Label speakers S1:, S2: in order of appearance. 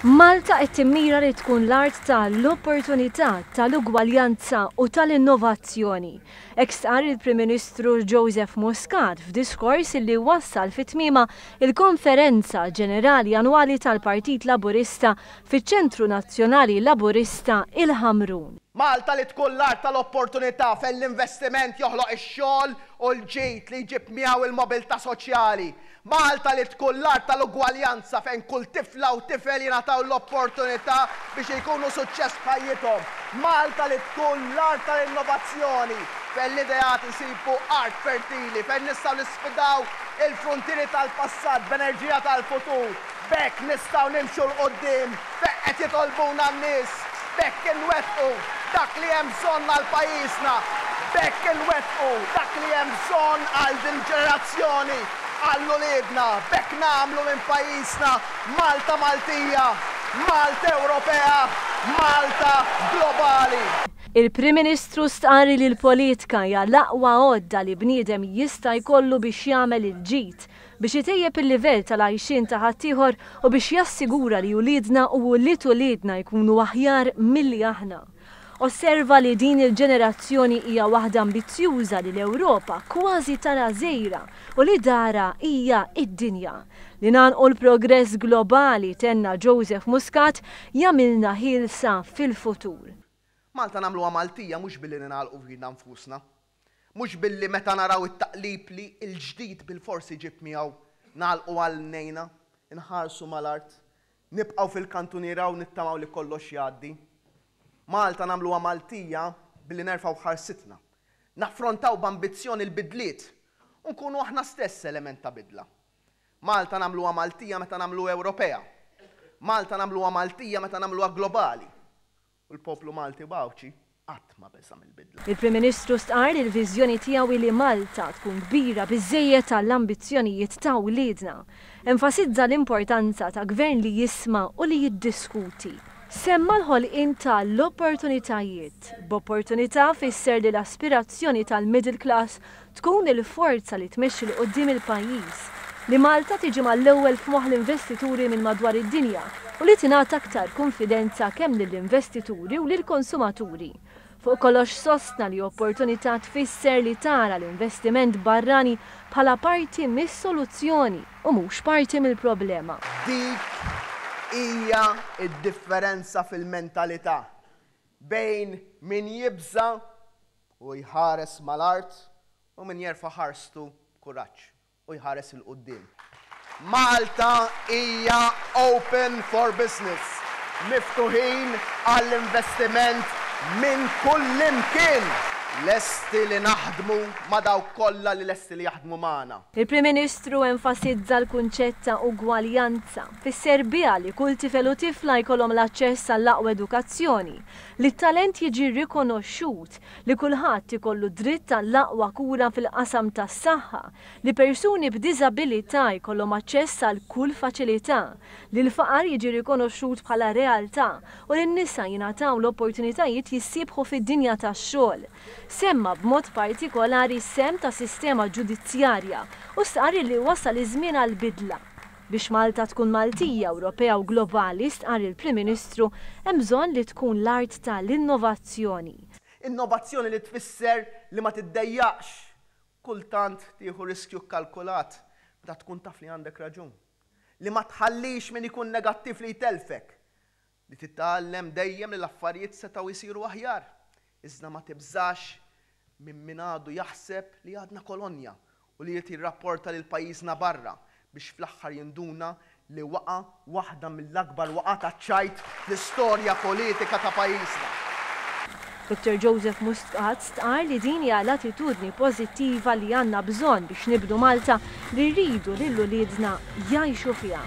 S1: Malta qed timmira li tkun l-art ta' l-opportunità, tal-ugwaljanza u tal-innovazzjoni. Hekk stqarr il-Prim Ministru Joseph Muscat f'diskors li wassal fi tmiemha il-Konferenza Ġenerali Annwali tal-Partit Laburista fiċ-Ċentru Nazzjonali Laburista, il-Ħamrun.
S2: Malta li tkun l-art tal-opportunità fejn l-investiment joħloq ix-xogħol u l-ġid li jġib miegħu l-mobilità soċjali. Malta li tkun l-art tal-ugwaljanza fejn kull tifla u tifel jingħataw l-opportunità biex ikunu suċċess f'ħajjithom. Malta li tkun l-art tal-innovazzjoni fejn l-ideat isibu art fertili, fejn nistgħu nisfidaw il-fruntieri tal-passat b'enerġija tal-futur. B'hekk nistgħu nimxu 'l quddiem fejn qed jitolbuna n-nies. B'hekk inwettqu dak li hemm bżonn għal pajjiżna. B'hekk inwettqu dak li hemm bżonn għal din il-ġenerazzjoni, għal uliedna. B'hekk nagħmlu minn pajjiżna Malta Maltija, Malta Ewropea, Malta globali.
S1: Il-Prim Ministru stqarr li l-politika hija l-aqwa għodda li bniedem jista' jkollu biex jagħmel il-ġid, biex itejjeb il-livell tal-għajxien ta' ħaddieħor u biex jassigura li uliedna u ulied uliedna jkunu aħjar milli aħna. Osserva li din il-ġenerazzjoni hija waħda ambizzjuża li l-Ewropa kważi tara żgħira u li darha hija d-dinja. Li ngħannqu l-progress globali, tenna Joseph Muscat, jagħmilna ħielsa fil-futur.
S2: Malta nagħmluha Maltija mhux billi ningħalqu fina nfusna. Mhux billi meta naraw it-taqlib li l-ġdid bilfors iġib miegħu, nagħlqu għajnejna, inħarsu mal-art, nibqgħu fil-kantuniera u nittamaw li kollox jgħaddi. Malta nagħmluha Maltija billi nerfgħu ħarsitna, naffrontaw b'ambizzjoni l-bidliet u nkunu aħna stess element ta' bidla. Malta nagħmluha Maltija meta nagħmluha Ewropea. Malta nagħmluha Maltija meta nagħmluha globali. U l-poplu Malti u Għawdxi qatt ma beża' mill-bidla.
S1: Il-Prim Ministru stqarr li l-viżjoni tiegħu hi li Malta tkun kbira biżżejjed għall-ambizzjonijiet ta' wliedna. Enfasizza l-importanza ta' gvern li jisma' u li jiddiskuti. Semma l-ħolqien ta' l-opportunitajiet. B'opportunità fisser li l-aspirazzjoni tal-middle class tkun il-forza li tmexxi 'l quddiem il-pajjiż, li Malta tiġi mal-ewwel f'moħħ l-investituri minn madwar id-dinja u li tingħata aktar kunfidenza kemm lill-investituri u lill-konsumaturi. Fuq kollox sostna li opportunità tfisser li tara l-investiment barrani bħala parti mis-soluzzjoni u mhux parti mill-problema.
S2: Dik hija d-differenza fil-mentalità bejn min jibża' u jħares mal-art u min jerfa' ħarstu b'kuraġġ u jħares 'il quddiem. Malta hija open for business, miftuħin għall-investiment minn kullimkien! Lesti li naħdmu ma' dawk kollha li lesti li jaħdmu magħna.
S1: Il-Prim Ministru enfasizza l-kunċett ta' ugwaljanza. Fisser biha li kull tifel u tifla jkollhom l-aċċess għall-aqwa edukazzjoni, Li t-talent jiġi rikonoxxut, li kulħadd ikollu dritt għall-aqwa kura fil-qasam tas-saħħa, li persuni b'diżabilità jkollhom aċċess għal kull faċilità, li l-faqar jiġi rikonoxxut bħala realtà u li n-nisa jingħataw l-opportunitajiet jissiebħu fid-dinja tax-xogħol. Semma b'mod partikolari s-sehem tas-sistema ġudizzjarja u stqarr li wasal iż-żmien għal bidla. Biex Malta tkun Maltija, Ewropea u globali, stqarr il-Prim Ministru, hemm bżonn li tkun l-art ta' l-innovazzjoni.
S2: Innovazzjoni li tfisser li ma tiddejjaqx kultant tieħu riskju kkalkulat meta tkun taf li għandek raġun. Li ma tħallix min ikun negattiv li jtellfek. Li titgħallem dejjem li l-affarijiet setgħu jsiru aħjar, iżda ma tibżax minn min għadu jaħseb li għadna kolonja u li jrid jirrapporta lil pajjiżna barra biex fl-aħħar jinduna li waqa' waħda mill-akbar waqgħat għaċ-ċajt fl-istorja politika ta' pajjiżna.
S1: Dottor Joseph Muscat stqarr li din hija l-attitudni pożittiva li għandna bżonn biex nibnu Malta li rridu lil uliedna jgħixu fiha.